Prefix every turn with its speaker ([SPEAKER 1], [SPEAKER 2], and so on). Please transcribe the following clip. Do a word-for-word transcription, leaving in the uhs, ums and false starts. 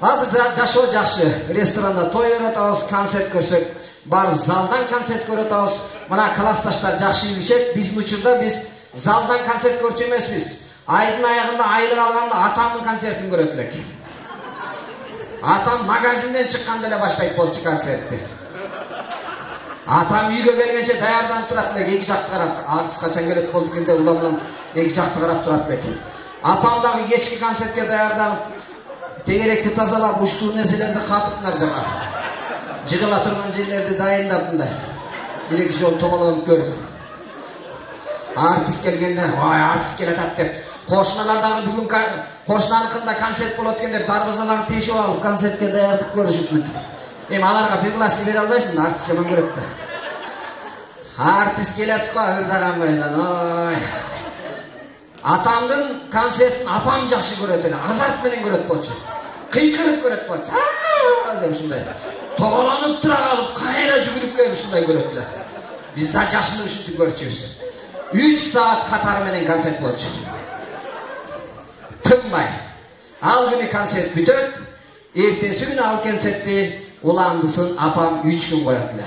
[SPEAKER 1] Азыр жашоо жакшы. Ресторанда той берип атабыз, концерт көрсөк, барып залдан концерт көрүп атабыз. Мына классташтар жакшы билишет. Биздин учурда биз залдан концерт көрчү эмеспиз. Айдын аягында айлык алганда атамдын концертин көрөт элек. Атам магазинден чыкканда эле баштайт болчу концертти. Атам үйгө келгенче даярданып турат элек, эки жакты карап. Артист качан келет болду экен деп улам-улам эки жакты карап турат элек. Апам дагы кечки концертке даярданып, тегеректи тазалап, уштуу нерселерди катып нар жага. Жыгыла турган жерлерди дайындап мындай. Бир-эки жолу тоголонуп көрүп. Артист келгенде, "Ой, артист келатат" деп, кошуналар дагы бүгүн кошунаныкында концерт болот экен деп дарбазаларын тешип алып концертке даярдык көрүшүп. Эми аларга пригласие бере албайсың, артист жаман көрөт да. Артист келет го ырдаган бойдон, ой. Атамдын концертин апам жакшы көрөт эле, азарт менен көрөт болчу. Кыйкырып көрөт болчу. Деп ушундай. Тоголонуп тура калып, кайра жүгүрүп келип ушундай көрөт эле. Биз да жашынып ушинтип көрчүбүз. үч саат катары менен концерт болчу. Тынбай. Ал күнү концерт бүтөт. Эртеси күнү ал концертти уландысын апам үч күн коет эле.